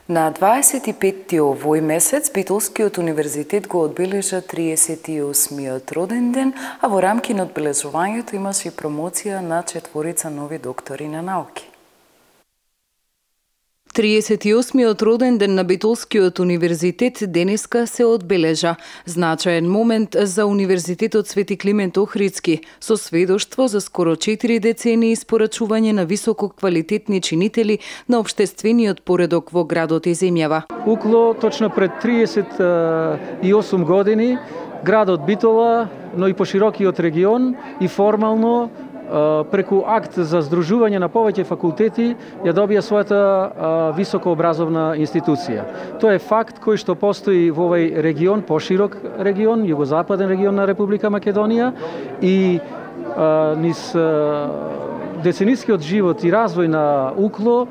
На 25 овој месец Битолскиот универзитет го одбележа 38-миот роден ден, а во рамки на одбележувањето имаше и промоција на 4 нови доктори на науки. 38-миот роден ден на Битолскиот универзитет денеска се одбележа. Значаен момент за Универзитетот Свети Климент Охридски, со сведоштво за скоро 4 децении испорачување на високо квалитетни чинители на општествениот поредок во градот и земјава. Укло точно пред 38 години градот Битола, но и поширокиот регион и формално преку акт за здружување на повеќе факултети ја добија својата високообразовна институција. Тоа е факт кој што постои во овој регион, поширок регион, југозападен регион на Република Македонија и низ деценискиот живот и развој на Укло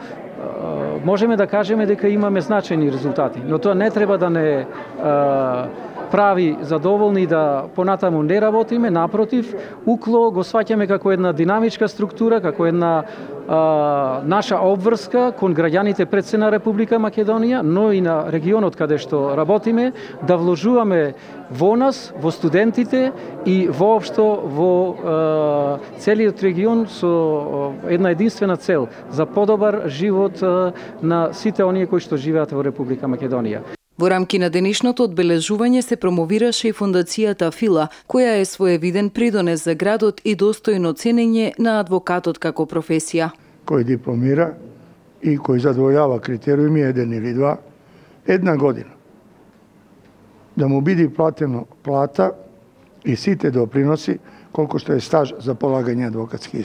можеме да кажеме дека имаме значајни резултати, но тоа не треба да не прави задоволни да понатаму не работиме, напротив, Укло го сваќаме како една динамичка структура, како една наша обврска кон граѓаните пред се на Република Македонија, но и на регионот каде што работиме, да вложуваме во нас, во студентите и воопшто во целиот регион со една единствена цел за подобар живот на сите оние кои што живеат во Република Македонија. Во рамки на денешното одбележување се промовираше и фондацијата Фила, која е своевиден придонес за градот и достојно ценење на адвокатот како професија. Кој дипломира и кој задоволјава критериуми 1 или 2, 1 година. Да му биде платено плата и сите доприноси, колку што е стаж за полагање адвокатски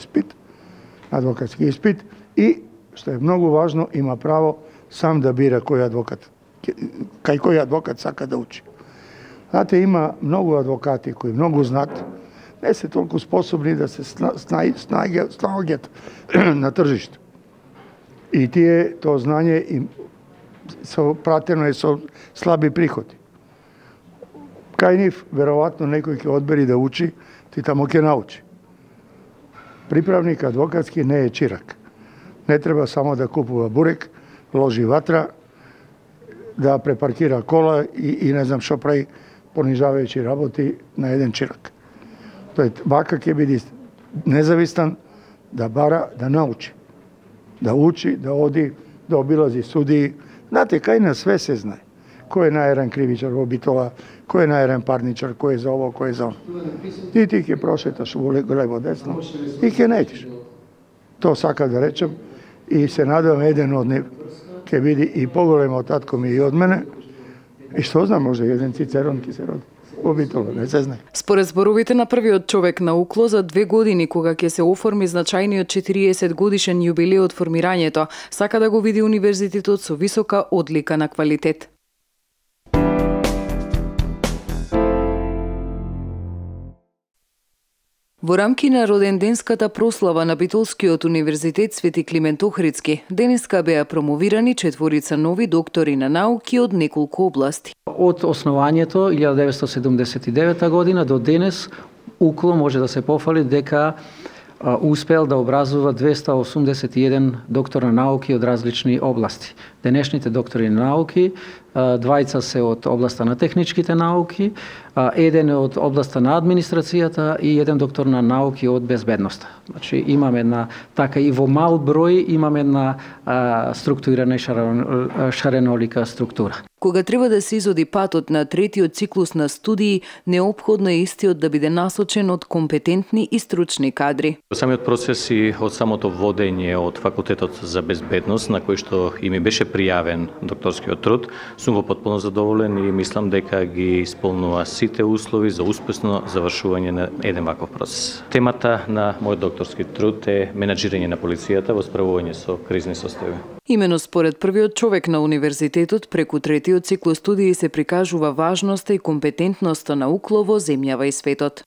испит и, што е многу важно, има право сам да бира кој адвокат кај кој адвокат сака да учи. Знаете, има многу адвокати кои многу знаат, не се толку способни да се снаоѓат на тржиште. И тие, тоа знање им пратено е со слаби приходи. Кај нив, веројатно, некој ќе одбери да учи, ти тамо ќе научи. Приправник адвокатски не е чирак. Не треба само да купува бурек, ложи ватра, да препаркира кола и не знам што прави, понижавајќи работи на еден чирак. Тој вака ќе биде независтан, да бара, да научи. Да учи, да оди, да обилази судии. Знаете, кај на све се знае. Кој е најерен кривичар во Битола, кој е најерен парничар, кој е за ово, кој е за оно. И ти ќе прошеташ во лево десно и ќе најдеш. Тоа сака да речем и се надевам еден од нив ќе биде и поголем од татко ми и од мене. И што знам, може еден Цицерон ќе се роди во Битола, не се знае. Според зборовите на првиот човек на Укло, за 2 години кога ќе се оформи значајниот 40 годишен јубилеј од формирањето, сака да го види универзитетот со висока одлика на квалитет. Во рамки на роденденската прослава на Битолскиот универзитет Свети Климент Охридски, денеска беа промовирани 4 нови доктори на науки од неколку области. Од основањето 1979 година до денес Укло може да се пофали дека успел да образува 281 доктор на науки од различни области. Денешните доктори на науки, 2 се од областа на техничките науки, еден е од областа на администрацијата и еден доктор на науки од безбедноста. Значи имаме на така и во мал број имаме на структурирана и шаренолика структура. Кога треба да се изоди патот на третиот циклус на студии, неопходно е истиот да биде насочен од компетентни и стручни кадри. Самиот процес и од самото водење од Факултетот за безбедност, на кој што и ми беше пријавен докторскиот труд, сум во потполно задоволен и мислам дека ги исполнува сите услови за успешно завршување на еден ваков процес. Темата на мојот докторски труд е менаџирање на полицијата во справување со кризни состојби. Имено според првиот човек на универзитетот, преку третиот циклус студии се прикажува важноста и компетентноста на Укло во земјава и светот.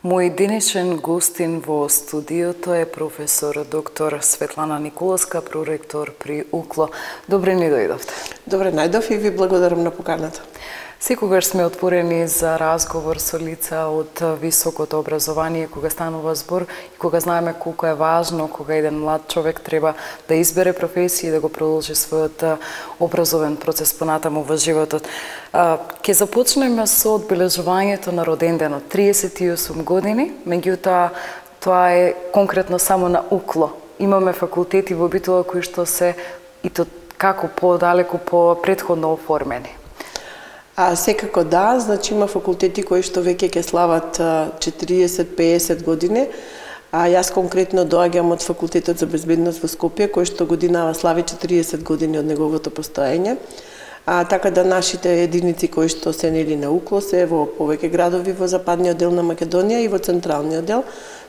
Мој денешен гостин во студиото е професор доктор Светлана Николовска, проректор при Укло. Добре ни дојдовте. Добре најдов и ви благодарам на поканата. Секогаш сме отворени за разговор со лица од високото образование, кога станува збор и кога знаеме колку е важно кога еден млад човек треба да избере професија и да го продолжи својот образовен процес понатаму во животот. Ќе започнеме со одбележувањето на роденденот, 38 години, меѓутоа тоа е конкретно само на УКЛО. Имаме факултети во Битола кои што се и то како подалеку по претходно оформени. Секако да, значи има факултети кои што веќе ќе слават 40-50 години. Јас конкретно доаѓам од факултетот за безбедност во Скопје, кој што годинава слави 40 години од неговото постоење. Така да нашите единици кои што се нели на УКЛО се во повеќе градови во западниот дел на Македонија и во централниот дел,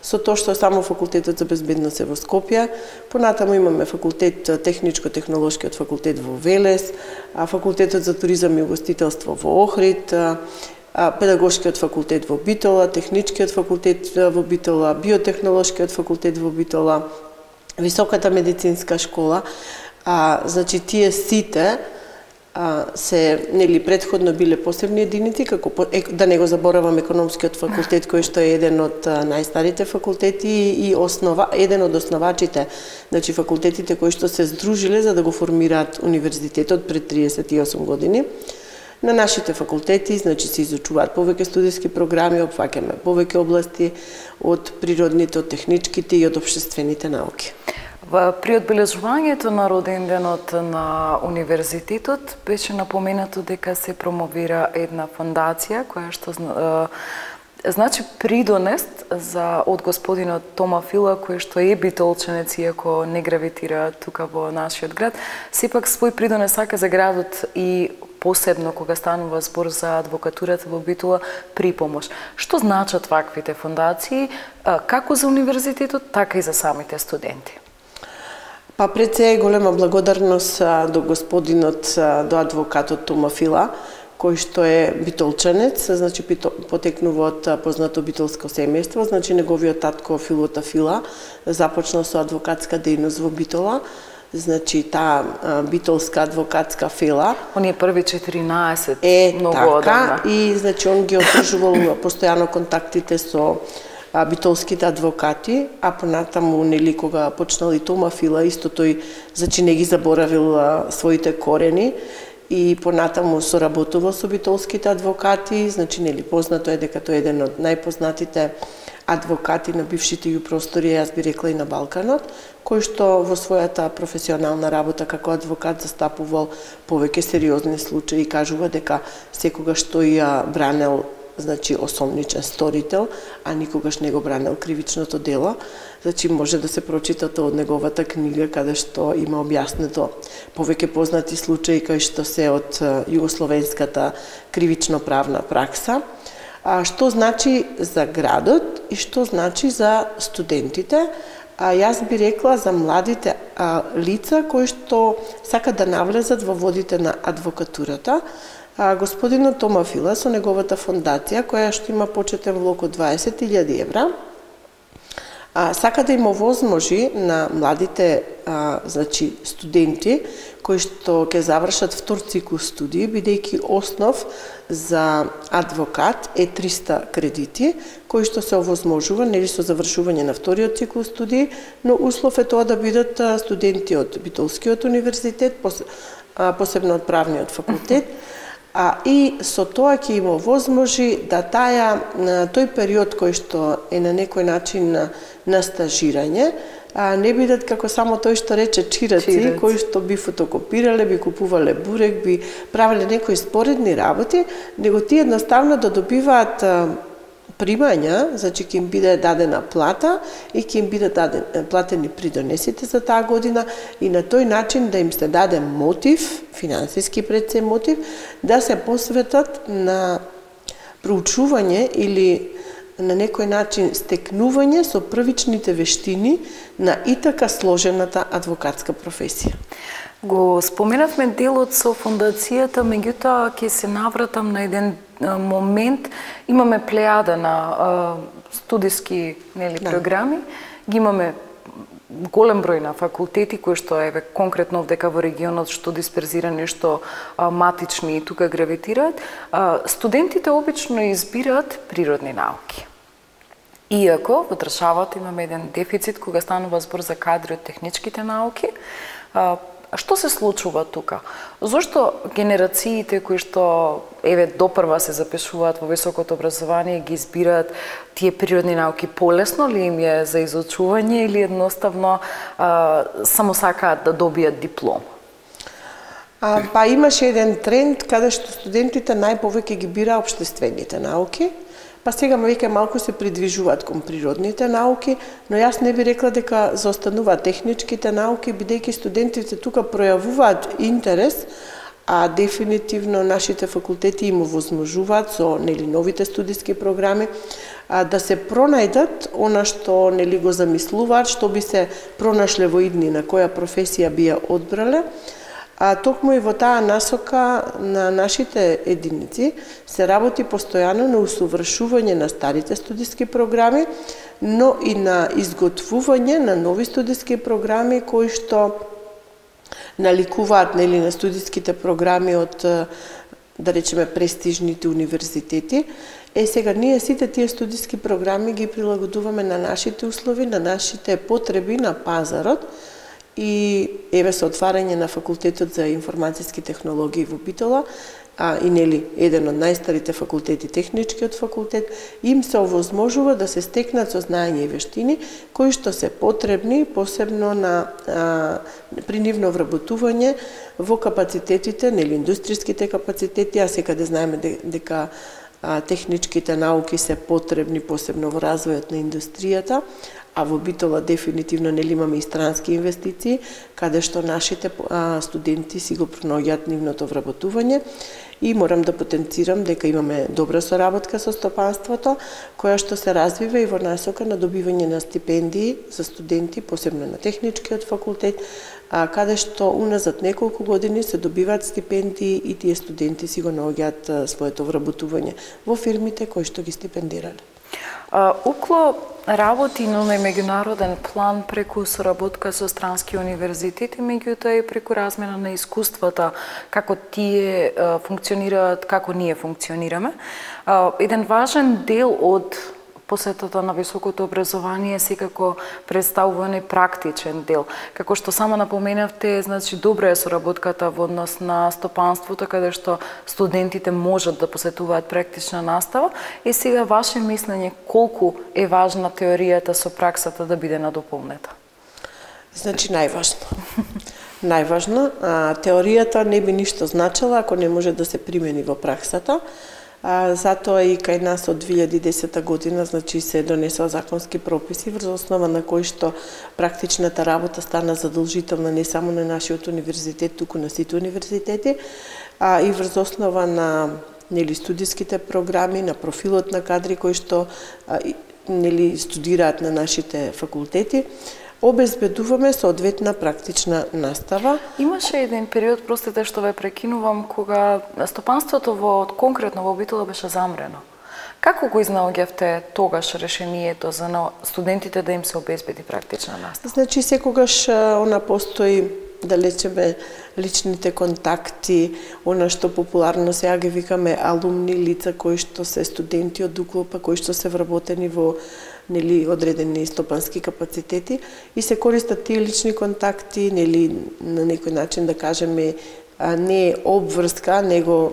со тоа што само факултетот за безбедност е во Скопје. Понатаму имаме факултет техничко-технолошкиот факултет во Велес, факултетот за туризам и угостителство во Охрид, педагошкиот факултет во Битола, техничкиот факултет во Битола, биотехнолошкиот факултет во Битола, високата медицинска школа. Значи тие сите се нели претходно биле посебни единици, како да не го заборавам економскиот факултет кој што е еден од најстарите факултети и еден од основачите, значи факултетите кои што се здружиле за да го формираат универзитетот пред 38 години. На нашите факултети, значи се изучуваат повеќе студиски програми, опфаќаме повеќе области од природните, од техничките и од општествените науки. При одбележувањето на роденденот на универзитетот беше напоменато дека се промовира една фондација која што значи придонест од господинот Тома Фила, кој што е битолченец, иако не гравитира тука во нашиот град, сепак свој придонес сака за градот и посебно кога станува збор за адвокатурата во Битола при помош. Што значат ваквите фондации, како за универзитетот, така и за самите студенти? Пред се голема благодарност до господинот, до адвокатот Тома Фила, кој што е битолчанец, значи потекнува од познато битолско семејство, значи неговиот татко Филота Фила започнал со адвокатска дејност во Битола, значи таа битолска адвокатска фела. Оние први 14 многу одамна. И значи он ги одржувал постојано контактите со битолските адвокати, а понатаму нели кога почнал и Тома Фила, исто тој значи не ги заборавил своите корени и понатаму соработувал со битолските адвокати, значи нели познато е дека тој е еден од најпознатите адвокати на бившите јупростори, јас би рекла и на Балканот, кој што во својата професионална работа како адвокат застапувал повеќе сериозни случаи и кажува дека секогаш тој ја бранел значи осомничен сторител, а никогаш не го бранел кривичното дело. Значи може да се прочита тоа од неговата книга каде што има објаснето повеќе познати случаи кои што се од југословенската кривично-правна пракса. Што значи за градот и што значи за студентите? Јас би рекла за младите лица кои што сакат да навлезат во водите на адвокатурата. Господинот Тома Фила со неговата фондација, која што има почетен влог од 20.000 евра, сака да им овозможи на младите значи студенти кои што ќе завршат втор циклус студии, бидејќи основ за адвокат е 300 кредити, кои што се овозможува нели со завршување на вториот циклус студии, но услов е тоа да бидат студенти од Битолскиот универзитет, посебно од правниот факултет, и со тоа ќе им овозможи да тој период кој што е на некој начин на стажирање, не бидат како само тој што рече чираци, кои што би фотокопирале, би купувале бурек, би правеле некои споредни работи, него тие едноставно да добиваат примања, значи ќе им биде дадена плата и ќе им бидат платени придонесите за таа година и на тој начин да им се даде мотив, финансиски пред се мотив, да се посветат на проучување или на некој начин стекнување со првичните вештини на и така сложената адвокатска професија. Го споменавме делот со фондацијата, меѓутоа ќе се навратам на еден момент. Имаме плејада на студиски програми, ги имаме голем број на факултети кои што еве конкретно овдека во регионот што дисперзирани, што матични и тука гравитираат, студентите обично избираат природни науки. Иако во државата имаме еден дефицит кога станува збор за кадри од техничките науки, што се случува тука? Зошто генерациите кои што еве допрва се запишуваат во високото образование ги избираат тие природни науки полесно ли им е за изучување или едноставно само сакаат да добијат диплома? Па имаше еден тренд каде што студентите најповеќе ги бира општествените науки, па сега веќе малку се придвижуваат кон природните науки, но јас не би рекла дека заостануваат техничките науки, бидејќи студентите тука пројавуваат интерес, а дефинитивно нашите факултети им овозможуваат со новите студиски програми да се пронајдат она што го замислуваат, што би се пронашле во иднина, која професија би ја одбрале. Токму и во таа насока на нашите единици се работи постојано на усовршување на старите студиски програми, но и на изготвување на нови студиски програми кои што наликуваат на студиските програми од, да речеме, престижните универзитети. Сега ние сите тие студиски програми ги прилагодуваме на нашите услови, на нашите потреби на пазарот. И еве со отварање на факултетот за информацијски технологии во Битола, и еден од најстарите факултети, техничкиот факултет, им се овозможува да се стекнат со знаење и вештини кои што се потребни посебно при нивно вработување во капацитетите, индустријските капацитети, а секаде знаеме дека техничките науки се потребни посебно во развојот на индустријата, а во Битола дефинитивно имаме и странски инвестиции, каде што нашите студенти си го пронаоѓаат нивното вработување. И морам да потенцирам дека имаме добра соработка со стопанството, која што се развива и во насока на добивање на стипендии за студенти, посебно на техничкиот факултет, каде што уназад неколку години се добиваат стипендии и тие студенти си го наоѓаат своето вработување во фирмите кои што ги стипендирале. УКЛО работи на меѓународен план преку соработка со странски универзитети, меѓутоа и преку размена на искуствата, како тие функционираат, како ние функционираме. Еден важен дел од посетата на високото образование секако представување практичен дел. Како што само напоменавте, значи добра е соработката во однос на стопанството, каде што студентите можат да посетуваат практична настава. И сега ваше мислење колку е важна теоријата со праксата да биде надополнета? Значи најважно. Најважно, теоријата не би ништо значила ако не може да се примени во праксата. Затоа и кај нас од 2010 година значи се донесоа законски прописи врз основа на кои што практичната работа стана задолжителна не само на нашиот универзитет, туку на сите универзитети, и врз основа на студиските програми, на профилот на кадри кои што студираат на нашите факултети, обезбедуваме соодветна практична настава. Имаше еден период, простите што ве прекинувам, кога стопанството конкретно во Битола беше замрено. Како го изнаоѓавте тогаш решението за студентите да им се обезбеди практична настава? Значи секогаш постои, да речеме, личните контакти, она што популарно сега ги викаме алумни, лица кои што се студенти од УКЛО, кои што се вработени во одредени стопански капацитети и се користат тие лични контакти, на некој начин да кажеме не обврска, него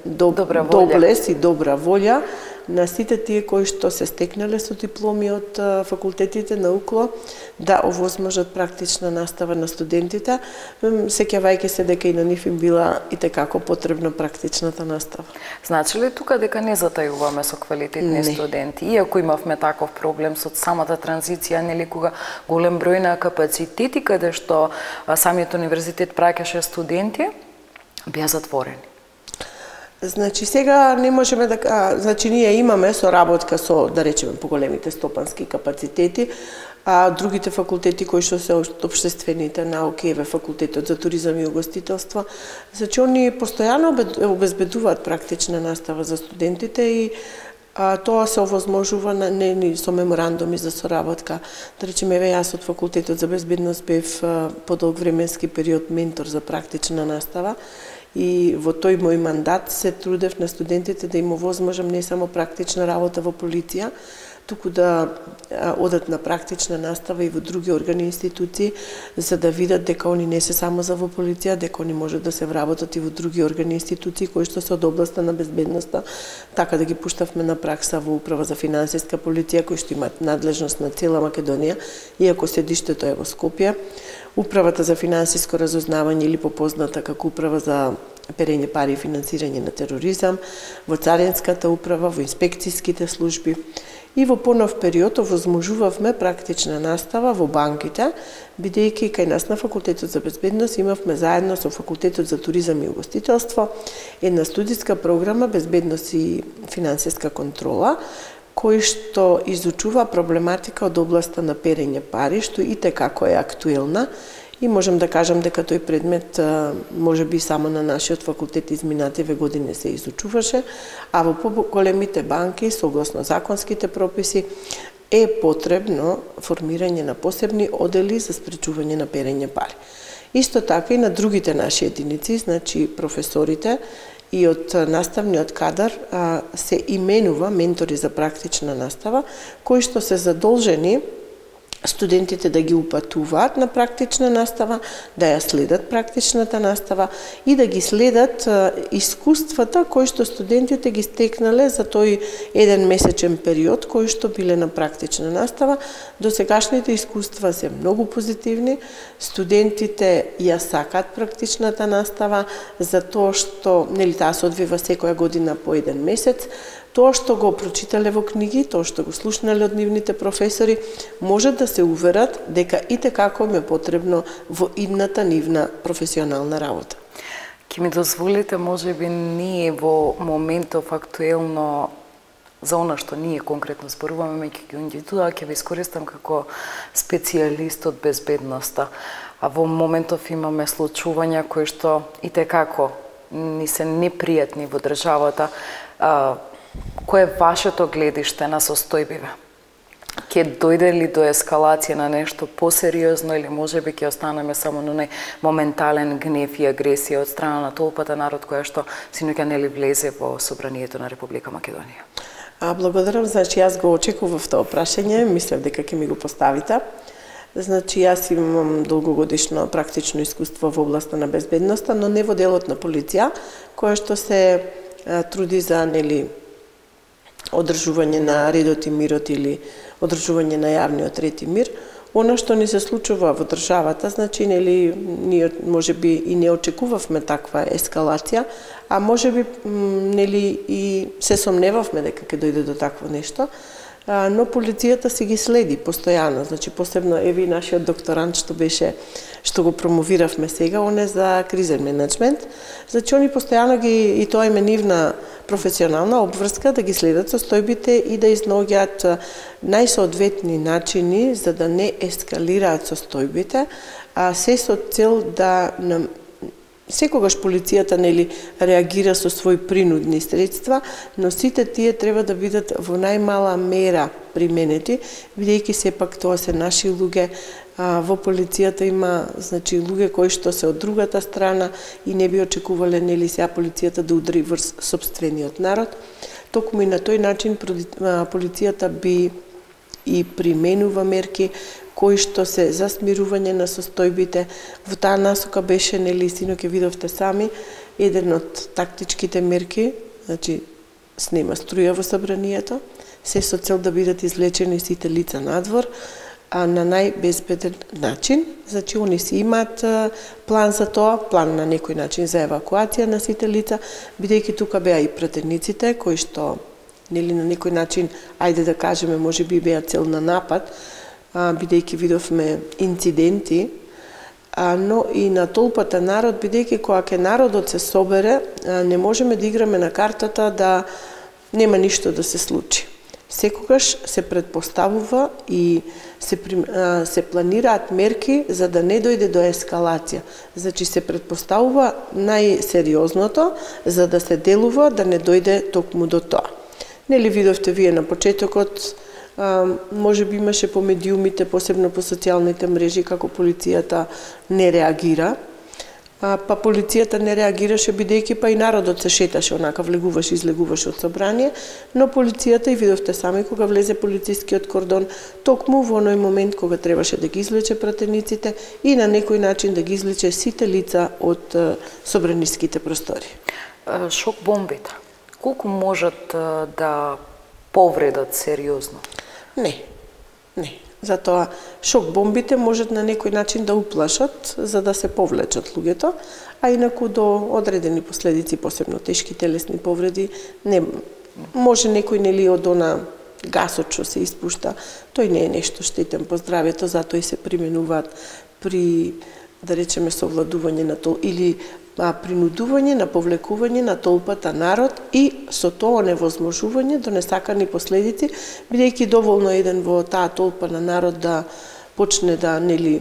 доблес и добра волја на сите тие кои што се стекнале со дипломи од факултетите на УКЛО да овозможат практична настава на студентите, сеќавајќи се дека и на нив им била и tekako потребна практичната настава. Значи ли тука дека не затајуваме со квалитетни студенти? Иако имавме таков проблем со самата транзиција, кога голем број на капацитети каде што самиот универзитет праќаше студенти, беа затворени. Значи сега не можеме да значи ние имаме соработка со, да речеме, поголемите стопански капацитети, а другите факултети кои што се општествените науки, факултетот за туризам и угостителство, значи они постојано обезбедуваат практична настава за студентите и Тоа се овозможува со меморандуми за соработка. Да речеме, јас од факултетот за безбедност бев подолг временски период ментор за практична настава и во тој мој мандат се трудев на студентите да им овозможам не само практична работа во полиција, туку да одат на практична настава и во други органи и институции, за да видат дека они не се само за во полиција, дека они можат да се вработат и во други органи и институции кои што се од областа на безбедноста. Така да ги пуштавме на пракса во Управа за финансиска полиција, кои што имаат надлежност на цела Македонија, иако седиштето е во Скопје. Управата за финансиско разузнавање или попозната како Управа за перење пари и финансирање на тероризам, во Царинската управа, во инспекцијските служби. И во понов период овозможувавме практична настава во банките, бидејќи кај нас на Факултетот за безбедност имавме заедно со Факултетот за туризам и угостителство една студиска програма Безбедност и финансиска контрола, кој што изучува проблематика од областа на перење пари, што и како е актуелна. И можам да кажам дека тој предмет може би само на нашиот факултет изминативе години се изучуваше, а во поголемите банки, согласно законските прописи, е потребно формирање на посебни одели за спречување на перење пари. Исто така и на другите наши единици, значи професорите и од наставниот кадар се именува ментори за практична настава, кои што се задолжени студентите да ги упатуваат на практична настава, да ја следат практичната настава и да ги следат искуствата кои што студентите ги стекнале за тој еден месечен период кои што биле на практична настава. Досегашните искуства се многу позитивни. Студентите ја сакаат практичната настава затоа што таа се одвива секоја година по еден месец. Тоа што го прочитале во книги, тоа што го слушнале од нивните професори, може да се уверат дека итекако им е потребно во идната нивна професионална работа. Ке ми дозволите, може би ние во моментов актуелно за она што ние конкретно зборуваме, меѓу индивидуа, ќе ви искористам како специјалист од безбедноста. А во моментов имаме случувања кои што итекако ни се непријатни во државата. Кој е вашето гледиште на состојбиве? Ке дојде ли до ескалација на нешто посериозно или можеби ќе останеме само на нај моментален гнев и агресија од страна на толпата народ која што синоќа нели влезе во собранието на Република Македонија? Благодарам, значи јас го очекував тоа прашање, мислев дека ќе ми го поставите. Значи јас имам долгогодишно практично искуство во областа на безбедноста, но не во делот на полиција, која што се труди за одржување на редот и мирот или одржување на јавниот ред и мир. Она што ни се случува во државата, значи ние можеби и не очекувавме таква ескалација, а можеби и се сомневавме дека ќе дојде до такво нешто, но полицијата се ги следи постојано, значи посебно еви нашиот докторант што го промовиравме сега, он е за кризен менеджмент. Значи они постојано и тоа им е нивна професионална обврска да ги следат состојбите и да изнаоѓаат најсоодветни начини за да не ескалираат состојбите, а се со цел да секогаш полицијата реагира со своји принудни средства, но сите тие треба да бидат во најмала мера применети, бидејќи сепак тоа се наши луѓе. Во полицијата има луѓе кои што се од другата страна и не би очекувале сега полицијата да удари врз сопствениот народ. Токму и на тој начин полицијата би и применува мерки кои што се за смирување на состојбите. Во таа насока беше, синоќа видовте сами, еден од тактичките мерки, значи снема струја во собранието, се со цел да бидат извлечени сите лица надвор, а на најбезбеден начин. Значи, они си имаат план за тоа, план на некој начин за евакуација на сите лица, бидејќи тука беа и пратениците, кои што, на некој начин, ајде да кажеме, може би беа цел на напад, бидејќи видовме инциденти, но и на толпата народ, бидејќи кога ќе народот се собере, не можеме да играме на картата да нема ништо да се случи. Секогаш се предпоставува и се планираат мерки за да не дојде до ескалација. Значи се предпоставува најсериозното за да се делува да не дојде токму до тоа. Нели видовте вие на почетокот, може би имаше по медиумите, посебно по социјалните мрежи, како полицијата не реагира. Па полицијата не реагираше бидејќи па и народот се шеташе, онака влегуваше, излегуваше од собрание, но полицијата, и видовте сами, кога влезе полицискиот кордон, токму во оној момент кога требаше да ги извлече пратениците и на некој начин да ги извлече сите лица од собраниските простори. Шок бомбите, колку можат да повредат сериозно? Не. Затоа шок бомбите можат на некој начин да уплашат за да се повлечат луѓето, а инаку до одредени последици, посебно тешки телесни повреди, не може некој нели од она гасот што се испушта, тој не е нешто штетен по здравјето, затоа и се применуваат при, да речеме, совладување на или принудување на повлекување на толпата народ и со тоа невозможување до несакани последици, бидејќи доволно еден во таа толпа на народ да почне да нели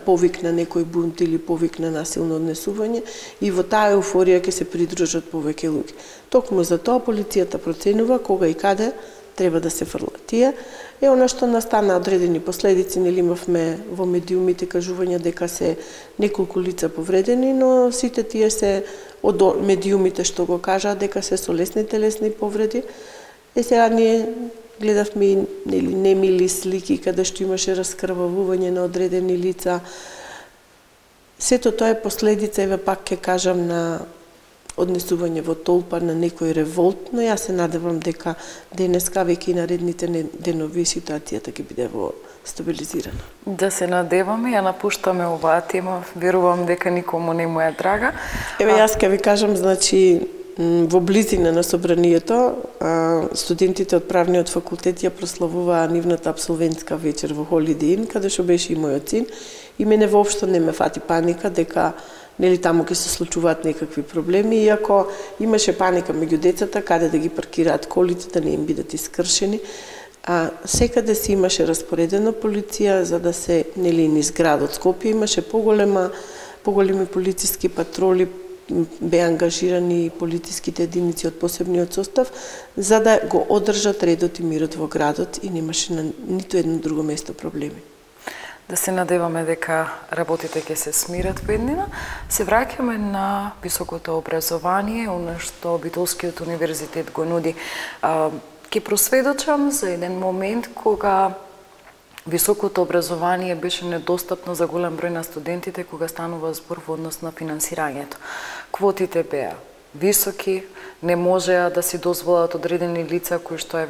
повик на некој бунт или повик на насилно однесување и во таа еуфорија ќе се придружат повеќе луѓе. Токму за тоа полицијата проценува кога и каде треба да се фрла. Тие е она што настана одредени последици, нели имавме во медиумите кажувања дека се неколку лица повредени, но сите тие се од медиумите што го кажаа дека се со лесни телесни повреди. Сега ние гледавме нели немили слики каде што имаше раскрвавување на одредени лица. Сето тоа е последица, еве пак ќе кажам, на однесување во толпа, на некој револт, но јас се надевам дека денеска веќе и наредните денови ситуацијата ќе биде во стабилизирана. Да се надеваме, ја напуштаме оваа тема, верувам дека никому не му е драга. Еве јас ќе ви кажам, значи во близина на собранието, студентите од правниот факултет ја прославуваа нивната апсолвентска вечер во Holiday Inn, каде што беше и мојот син, и мене воопшто не ме фати паника дека нели таму ќе се случуваат некакви проблеми, иако имаше паника меѓу децата каде да ги паркираат колите, да не им бидат искршени. Секаде си имаше распоредена полиција за да се нели низ градот Скопје имаше поголеми полициски патроли, беа ангажирани полициските единици од посебниот состав за да го одржат редот и мирот во градот и немаше на ниту едно друго место проблеми. Да се надеваме дека работите ќе се смират во еднина. Се враќаме на високото образование, оно што Битолскиот универзитет го нуди. Ќе просведочам за еден момент кога високото образование беше недостапно за голем број на студентите кога станува збор во однос на финансирањето. Квотите беа високи, не можеа да си дозволат одредени лица кои што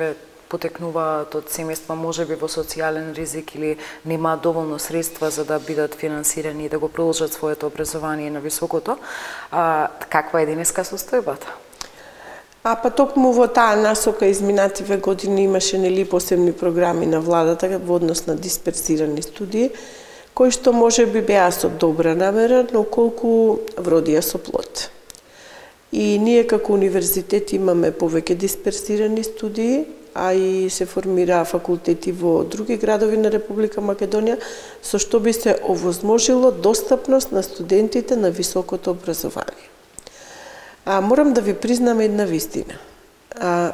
потекнуваат од семејства можеби во социјален ризик или немаат доволно средства за да бидат финансирани и да го продолжат своето образование на високото. Каква е денеска состојбата? Па токму во таа насока изминативе години имаше нели посебни програми на владата во однос на дисперсирани студии, кои што можеби беа со добра намера, но колку вродија со плод. И ние како универзитет имаме повеќе дисперсирани студии, а и се формираа факултети во други градови на Република Македонија, со што би се овозможило достапност на студентите на високото образование. Морам да ви признам една вистина.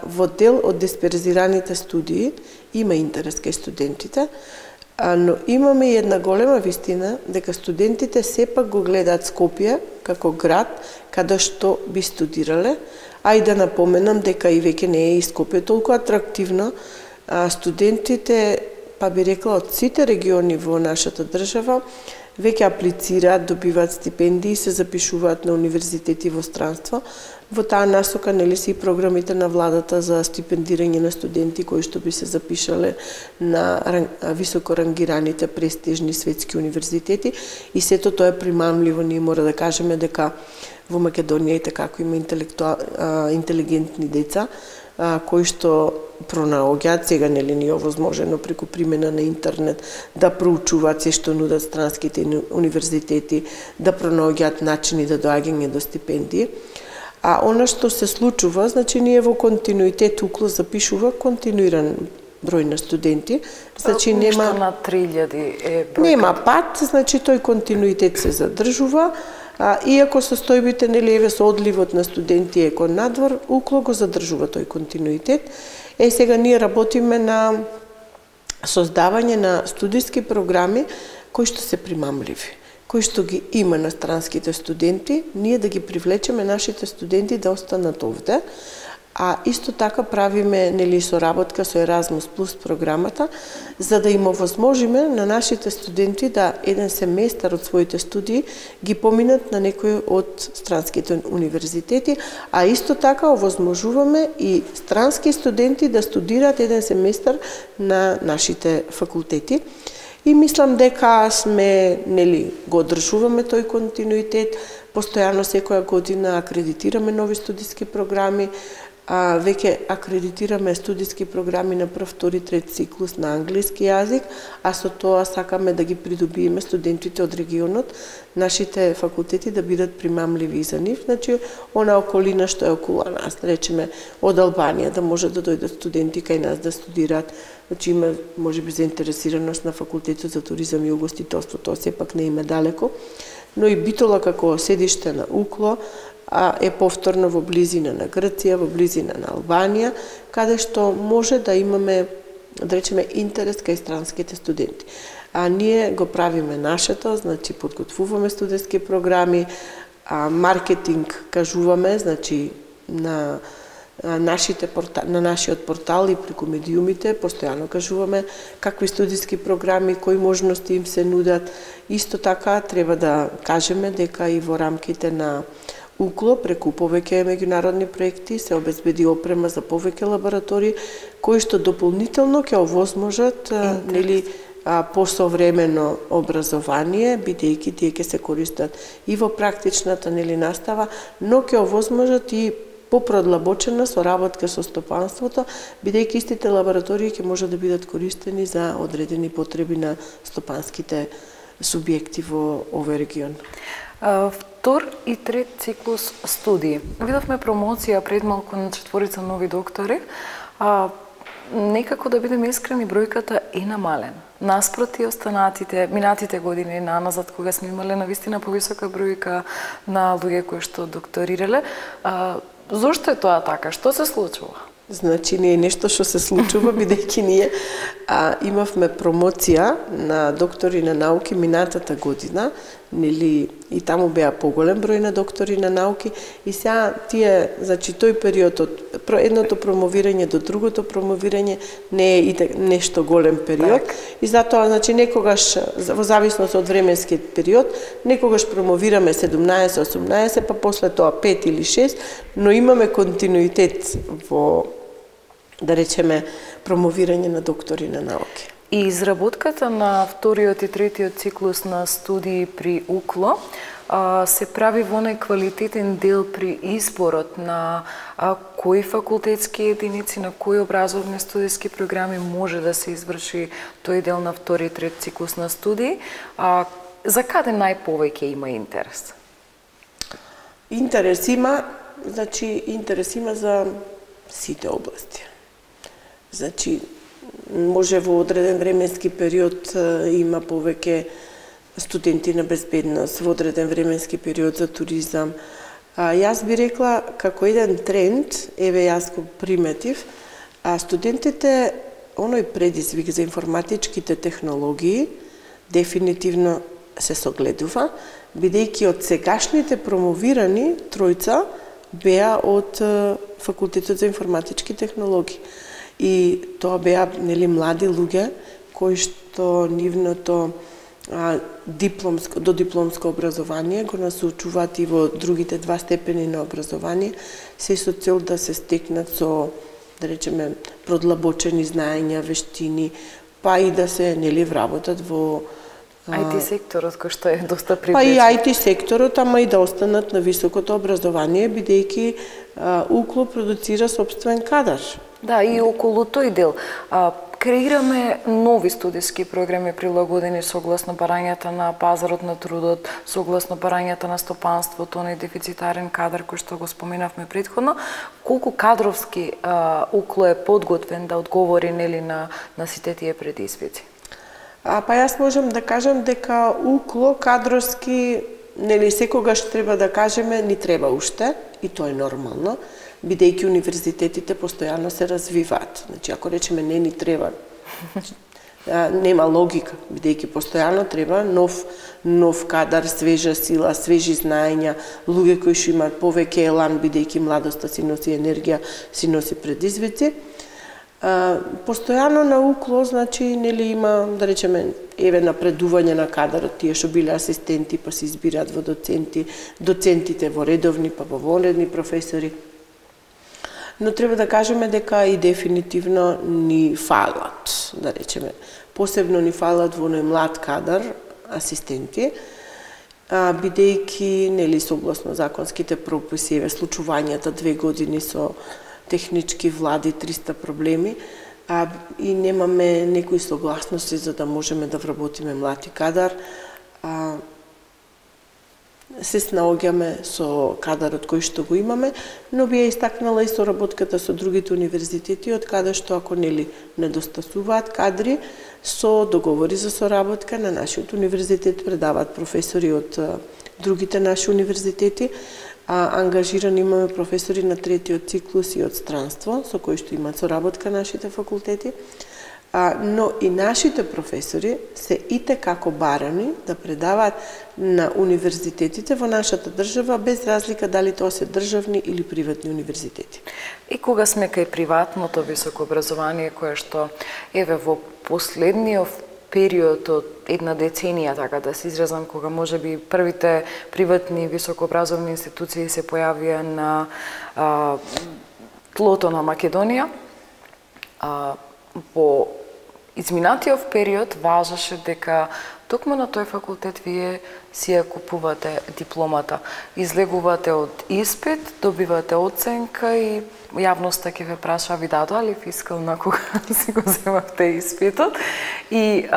Во дел од дисперзираните студии има интерес кај студентите, но имаме и една голема вистина дека студентите сепак го гледаат Скопје како град каде што би студирале, а и да напоменам дека и веќе не е и Скопје толку атрактивно. Студентите, па би рекла, од сите региони во нашата држава, веќе аплицираат, добиваат стипендии, се запишуваат на универзитети во странство. Во таа насока нели се и програмите на владата за стипендирање на студенти кои што би се запишале на високо рангираните престижни светски универзитети и сето тоа е примамливо. Ние мора да кажеме дека во Македонија и како има интелигентни деца кои што пронаоѓаат сега нели ни овозможено преку примена на интернет да проучуваат се што нудат странските универзитети, да пронаоѓаат начини да доаѓање до стипендии. А она што се случува, значи ние во континуитет укло запишува континуиран број на студенти, значи нема на 3000 е бројка. Нема пат, значи тој континуитет се задржува. Иако состојбите нели еве со одливот на студенти е кон надвор, УКЛО го задржува тој континуитет. Сега ние работиме на создавање на студиски програми кои што се примамливи, кои што ги има на странските студенти, ние да ги привлечеме нашите студенти да останат овде. А исто така правиме нели соработка со Еразмус Плюс програмата, за да им овозможиме на нашите студенти да еден семестар од своите студии ги поминат на некој од странските универзитети, а исто така овозможуваме и странски студенти да студираат еден семестар на нашите факултети. И мислам дека сме нели го одржуваме тој континуитет, постојано секоја година акредитираме нови студиски програми. Веќе акредитираме студиски програми на прв, втори, трет циклус на англиски јазик, а со тоа сакаме да ги придобиеме студентите од регионот, нашите факултети да бидат примамливи за нив. Значи, она околина што е околу нас, речеме од Албанија, да може да дојдат студенти кај нас да студираат. Значи, има можеби заинтересираност на факултетот за туризам и угостителство, тоа сепак не има далеко. Но и Битола како седиште на УКЛО е повторно во близина на Грција, во близина на Албанија, каде што може да имаме, да речеме, интерес кај странските студенти. А ние го правиме нашето, значи подготвуваме студентски програми, маркетинг кажуваме, значи на нашиот портал и преку медиумите постојано кажуваме какви студиски програми, кои можности им се нудат. Исто така треба да кажеме дека и во рамките на УКЛО преку повеќе меѓународни проекти се обезбеди опрема за повеќе лаборатории кои што дополнително ќе овозможат нели посовремено образование, бидејќи тие ќе се користат и во практичната нели настава, но ќе овозможат и попродлабочена соработка со стопанството, бидејќи истите лаборатории ќе можат да бидат користени за одредени потреби на стопанските субјекти во овој регион. Втор и трет циклус студии. Видовме промоција пред малку на 4 нови доктори. Некако да бидеме искрени, бројката е намалена. Наспроти останатите, минатите години наназад, кога сме имале навистина повисока бројка на луѓе кои што докторирале. Зошто е тоа така? Што се случува? Значи, не е нешто што се случува, бидејќи ние имавме промоција на доктори на науки минатата година, нели, и таму беа поголем број на доктори на науки, и сега тие, значи, тој период од едното промовирање до другото промовирање не е нешто голем период, и затоа, значи, некогаш, во зависност од временскиот период, некогаш промовираме 17-18, па после тоа 5 или 6, но имаме континуитет во, да речеме, промовирање на доктори на науки. И изработката на вториот и третиот циклус на студии при УКЛО се прави во неквалитетен дел при изборот на кои факултетски единици, на кои образовни студиски програми може да се изврши тој дел на втори и трет циклус на студии. За каде најповеќе има интерес? Интерес има, значи, интерес има за сите области. Значи, може во одреден временски период има повеќе студенти на безбедност, во одреден временски период за туризам. Јас би рекла, како еден тренд, еве јас го приметив, студентите, оној предизвик за информатичките технологии, дефинитивно се согледува, бидејќи од сегашните промовирани тројца беа од Факултетот за информатички технологии. И тоа беа, нели, млади луѓе кои што нивното додипломско образование го насочуваат и во другите два степени на образование, се со цел да се стекнат со, да речеме, продлабочени знаења, вештини, па и да се, нели, вработат во IT секторот, кој што е доста привлечен. Па и IT секторот, ама и да останат на високото образование, бидејќи УКЛО продуцира собствен кадар. Да, и околу тој дел. Креираме нови студиски програми прилагодени согласно барањата на пазарот на трудот, согласно барањата на стопанството, на дефицитарен кадар кој што го споменавме претходно. Колку кадровски УКЛО е подготвен да одговори, нели, на сите тие предизвици? Па јас можам да кажам дека УКЛО кадровски нели секогаш треба да кажеме ни треба уште и тоа е нормално, бидејќи универзитетите постојано се развиваат. Значи ако речеме не ни треба, нема логика, бидејќи постојано треба нов кадар, свежа сила, свежи знаења, луѓе кои што имаат повеќе елан, бидејќи младоста си носи енергија, си носи предизвици. Постојано на УКЛО, значи, нели има, да речеме, напредување на кадарот, тие што биле асистенти, па се избираат во доценти, доцентите во редовни, па во вонредни професори. Но треба да кажеме дека и дефинитивно ни фалат, да речеме. Посебно ни фалат во млад кадар, асистенти, бидејќи, нели, согласно законските прописи, случувањата 2 години со технички влади, 300 проблеми, и немаме некои согласности за да можеме да вработиме млад кадар. Се снаоѓаме со кадарот кој што го имаме, но би ја истакнала и соработката со другите универзитети, од каде што ако нели недостасуваат кадри, со договори за соработка на нашиот универзитет предаваат професори од другите наши универзитети, ангажирани имаме професори на третиот циклус и од странство, со кои што имаат соработка нашите факултети, но и нашите професори се итекако барани да предаваат на универзитетите во нашата држава, без разлика дали тоа се државни или приватни универзитети. И кога сме кај приватното високо образование, кое што, во последниот период од една деценија, така да се изразам, кога може би првите приватни високообразовни институции се појавија на тлото на Македонија, во изминатиот период важеше дека токму на тој факултет вие си ја купувате дипломата. Излегувате од испит, добивате оценка и јавноста ќе ве праша ви дадоа ли фискална кога си го земавте испитот. И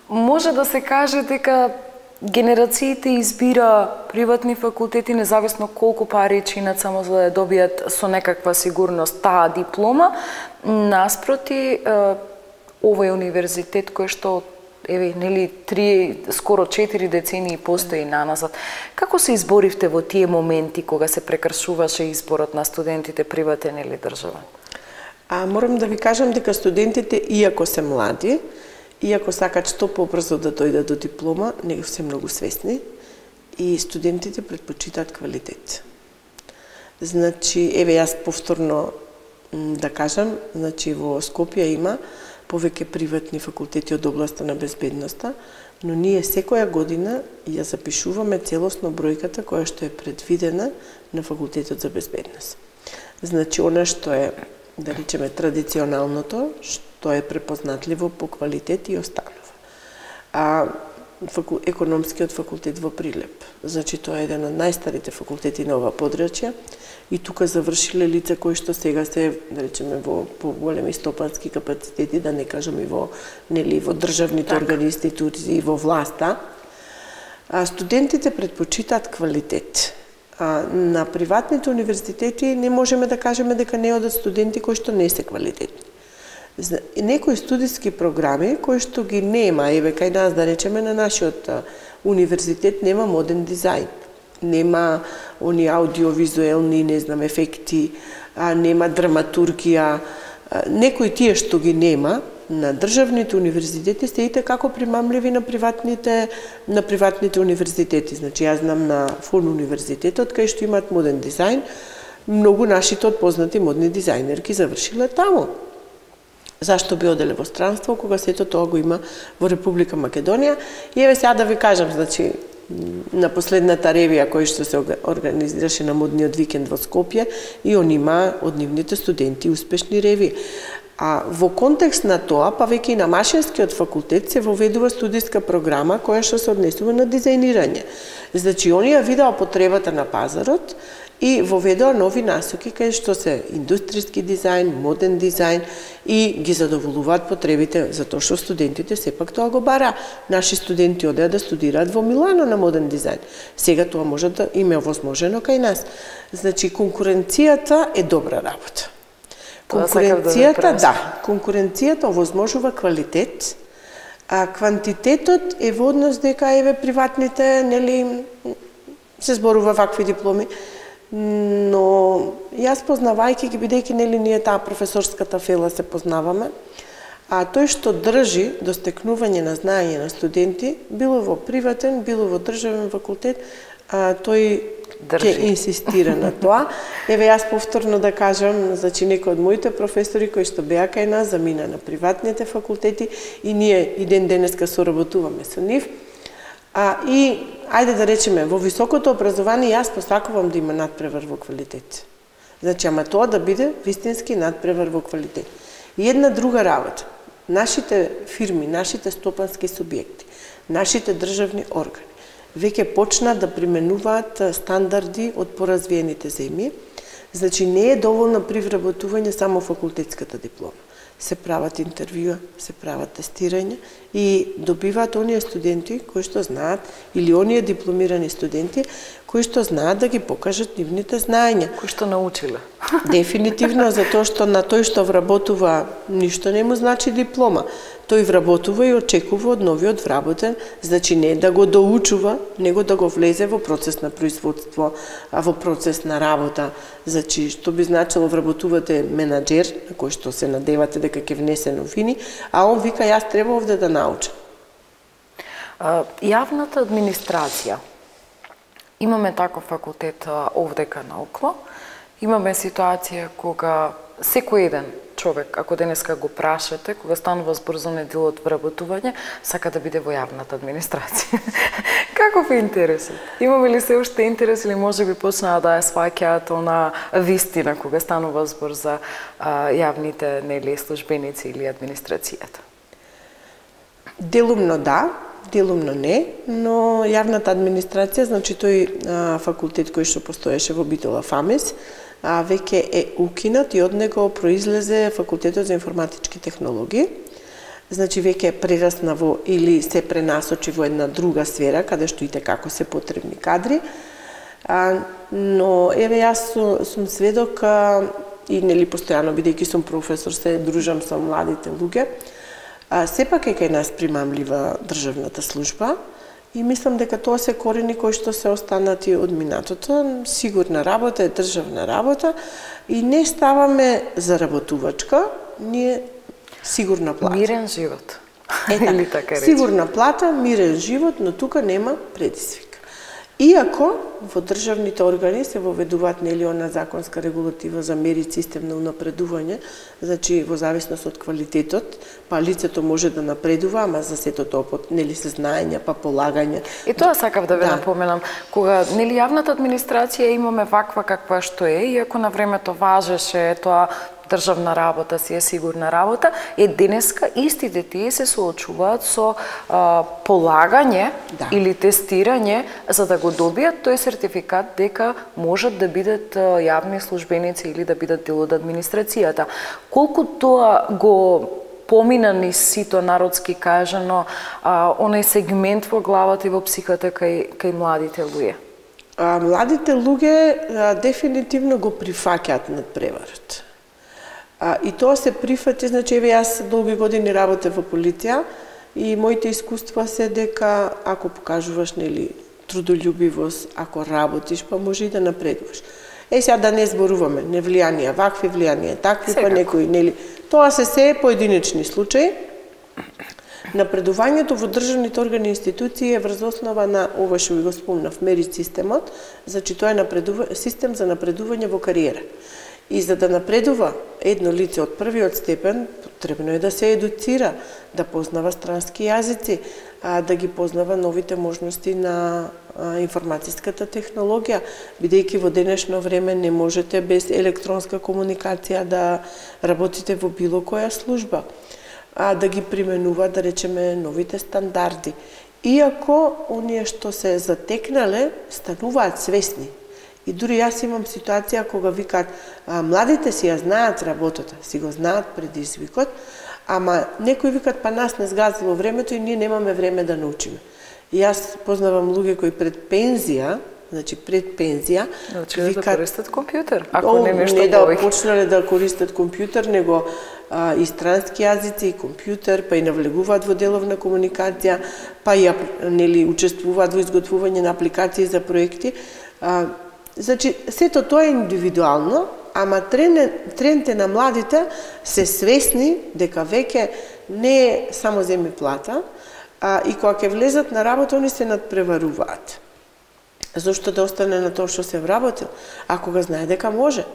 може да се каже дека генерациите избира приватни факултети независно колку пари чинат само за да ја добијат со некаква сигурност таа диплома, наспроти овој универзитет кој што нели 3, скоро 4 децении постои наназад. Како се изборивте во тие моменти кога се прекршуваше изборот на студентите приватен или државен? Морам да ви кажам дека студентите, иако се млади, иако сакат што побрзо да дојдат до диплома, не се многу свесни и студентите предпочитаат квалитет. Значи, јас повторно да кажам, значи во Скопје има повеќе приватни факултети од областа на безбедноста, но ние секоја година ја запишуваме целосно бројката која што е предвидена на факултетот за безбедност. Значи, она што е, да речеме, традиционалното, што е препознатливо по квалитет и останува. Економскиот факултет во Прилеп. Значи, тоа е еден од најстарите факултети на ова подрачје и тука завршиле лица кои што сега се, да речеме, во поголеми стопански капацитети, да не кажам и во државните органи, институции, во власта. Студентите предпочитаат квалитет. На приватните универзитети не можеме да кажеме дека не одат студенти кои што не се квалитетни. Некои студиски програми кои што ги нема, кај нас да речеме на нашиот универзитет нема моден дизајн, нема они аудиовизуелни, ефекти, нема драматургија, некои тие што ги нема на државните универзитети се итекако примамливи на приватните универзитети. Значи, јас знам на ФУН универзитетот кај што имаат моден дизајн, многу нашите познати модни дизајнерки завршиле таму. Зашто би оделе во странство, кога сето тоа го има во Република Македонија? И сега да ви кажам, значи, на последната ревија која што се организираше на модниот викенд во Скопје, и он има од нивните студенти успешни реви. Во контекст на тоа, па веќе и на Машинскиот факултет се воведува студиска програма која што се однесува на дизајнирање. Значи, они ја видеа потребата на пазарот и воведоа нови насоки кај што се индустријски дизајн, моден дизајн и ги задоволуваат потребите, затоа што студентите сепак тоа го бара. Наши студенти одеа да студираат во Милано на моден дизајн. Сега тоа може да им е овозможено кај нас. Значи, конкуренцијата е добра работа. Конкуренцијата овозможува квалитет, Квантитетот е во однос дека еве приватните, нели, се зборува вакви дипломи, но јас познавајќи ги, бидејќи нели ние таа професорската фела се познаваме, а тој што држи до стекнување на знаење на студенти, било во приватен, било во државен факултет, тој ќе инсистира на тоа. Еве јас повторно да кажам, значи некои од моите професори кои што беа кај нас замина на приватните факултети и ние и ден денеска соработуваме со нив. И ајде да речеме, во високото образование јас посакувам да има надпревар во квалитет. Значи, ама тоа да биде вистински надпревар во квалитет. И една друга работа. Нашите фирми, нашите стопански субјекти, нашите државни органи веќе почна да применуваат стандарди од поразвиените земји. Значи, не е доволно при вработување само факултетската диплома. Се прават интервјуа, се прават тестирања и добиваат оние студенти кои што знаат, или оние дипломирани студенти кои што знаат да ги покажат нивните знаења. Кои што научиле. Дефинитивно, затоа што на тој што вработува ништо не му значи диплома. Тој вработува и очекува од новиот вработен, значи не да го доучува, него да го влезе во процес на производство, во процес на работа. Значи, што би значило вработувате менаџер, на кој што се надевате дека ќе внесе новини, а он вика, јас треба овде да научам. Јавната администрација. Имаме таков факултет овдека наоколу. Имаме ситуација кога секој еден човек, ако денеска го прашате, кога станува збор за неделот вработување, сака да биде во јавната администрација. Каков е интересот? Имаме ли се уште интерес или може би почнаа да ја сваќаат она вистина кога станува збор за јавните нели службеници или администрацијата? Делумно да, делумно не, но јавната администрација, значи тој факултет кој што постоеше во Битола ФАМЕС, веќе е укинат и од него произлезе факултетот за информатички технологии. Значи веќе прерасна во или се пренасочи во една друга сфера каде што и како се потребни кадри. Но еве јас сум сведок и нели постојано бидејќи сум професор се дружам со младите луѓе. Сепак е кај нас примамлива државната служба и мислам дека тоа се корени кои што се останати од минатото. Сигурна работа е државна работа и не ставаме заработувачка, ние сигурна плата. Мирен живот. Или така рече. Сигурна плата, мирен живот, но тука нема предизвик. Иако во државните органи се воведуваат нели она законска регулатива за мерит систем на унапредување, значи во зависност од квалитетот, па лицето може да напредува, ама за сето тоа нели се знаења, па полагање. И тоа сакав да ве напоменам, кога нели јавната администрација имаме ваква каква што е, иако на времето важеше тоа државна работа си е сигурна работа, денеска истите тие се соочуваат со полагање или тестирање за да го добијат тој сертификат дека можат да бидат јавни службеници или да бидат дел од администрацијата. Колку тоа го помина низ сито, народски кажано, онај сегмент во главата и во психата кај младите луѓе? Младите луѓе дефинитивно го прифаќаат надпреварот. И тоа се прифати, значи еве јас долги години работев во полиција и моите искуства се дека ако покажуваш нели трудолюбивост, ако работиш, па може и да напредуваш. Сега да не зборуваме, не влијанија, вакви влијанија, такви, па некои, нели, тоа се поединечни случаи. Напредувањето во државните органи и институции е врз основа на ова што ви го спомнав, мерит системот, значи тоа е систем за напредување во кариера. И за да напредува едно лице од првиот степен, потребно е да се едуцира, да познава странски јазици, да ги познава новите можности на информатиската технологија, бидејќи во денешно време не можете без електронска комуникација да работите во било која служба, да ги применува, да речеме, новите стандарди. Иако оние што се затекнале стануваат свесни. И дури јас имам ситуација кога викаат, младите си ја знаат работата, си го знаат предизвикот, ама некои викаат, па нас не сгазило времето и ние немаме време да научиме. И јас познавам луѓе кои пред пензија, значи пред пензија, викаат да користат компјутер, ако не нешто не да почнале да користат компјутер, него и странски јазици, и компјутер, па и навлегуваат во деловна комуникација, па и нели учествуваат во изготвување на апликации за проекти. Значи, сето тоа е индивидуално, ама трендите на младите се свесни дека веќе не е само земи плата, и кога ќе влезат на работа, они се надпреваруваат. Зошто да остане на тоа што се вработил, ако го знае дека може?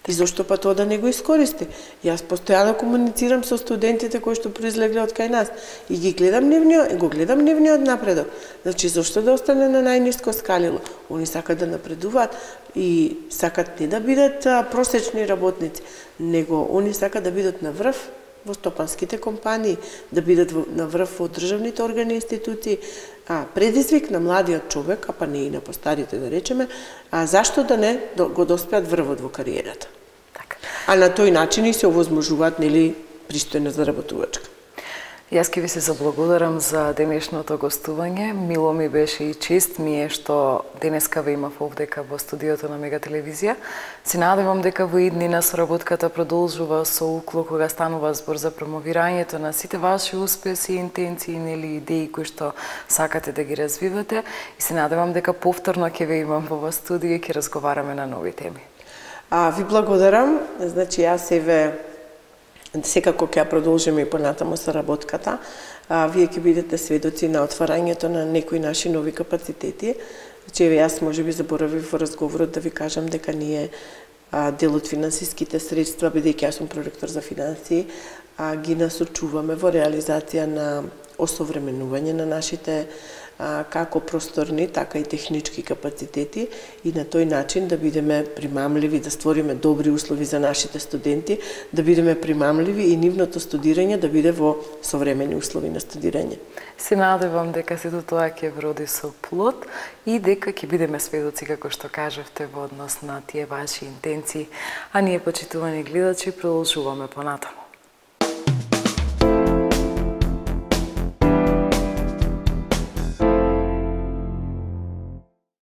И зошто па тоа да не го искористи? Јас постојано комуницирам со студентите кои што произлегле од кај нас и го гледам нивниот напредок. Значи, зошто да остане на најниско скалило? Они сакат да напредуваат и сакат не да бидат просечни работници, него они сакат да бидат на врв во стопанските компании, да бидат на врв во државните органи и институции. Предизвик на младиот човек, па не и на постарите да речеме, зашто да не го доспеат врвот во кариерата. А на тој начин и се овозможуваат, нели, пристојна заработувачка. Јас ке ви се заблагодарам за денешното гостување. Мило ми беше и чест ми е што денеска ве имав овдека во студиото на Мега телевизија. Се надевам дека во иднина соработката продолжува со укло кога станува збор за промовирањето на сите ваши успеси, интенции, нели идеи кои што сакате да ги развивате и се надевам дека повторно ќе ве имам во студио и ќе разговараме на нови теми. Ви благодарам. Значи, јас секако ќе продолжиме и понатаму соработката. Вие ќе бидете сведоци на отварањето на некои наши нови капацитети. Значи, јас можеби заборавив во разговорот да ви кажам дека ние дел од финансиските средства, бидејќи јас сум проректор за финансии, ги насочуваме во реализација на осовременување на нашите како просторни, така и технички капацитети и на тој начин да бидеме примамливи, да створиме добри услови за нашите студенти, да бидеме примамливи и нивното студирање да биде во современи услови на студирање. Се надевам дека сето тоа ќе вроди со плод и дека ќе бидеме сведоци, како што кажавте, во однос на тие ваши интенции, а ние, почитувани гледачи, продолжуваме понатаму.